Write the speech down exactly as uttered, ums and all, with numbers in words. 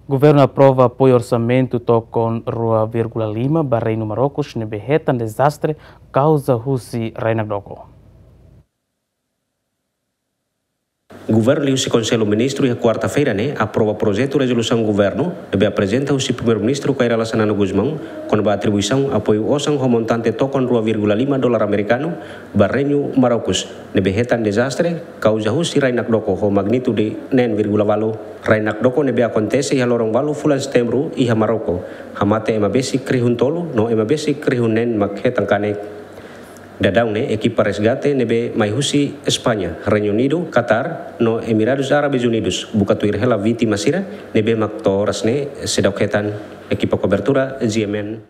Governu aprova apoiu orsamentu tokon rua vírgula lima ba Reinu Marrokus ne'ebé hetan dezastre kauza husi rai nakdoko. Governu liuhusi Konsellu Ministru iha kuarta-feira ne'e aprova projetu rezolusaun governu ne'ebé aprezenta husi Primeiru-Ministru Kay Rala Xanana Gusmão kona-ba atribuisaun apoiu osan ho montante tokon rua vírgula lima dolar amerikanu ba Reinu Marrokus ne'ebé hetan dezastre kauza husi rai nakdoko ho magnitude neen vírgula ualu. Rai nakdoko ne'ebé akontese iha loron ualu fulan Setembru iha Marroko, hamate ema besik rihun tolu no ema besik rihun neen mak hetan kanek. Daudaun ne'e ekipa resgate ne'ebé mai husi España, Reinu Unidu, Katar no Emiradus Árabes Unidus buka tuir hela vítima sira ne'ebé mak to'o oras ne'e seidauk hetan. Ekipa kobertura G M N.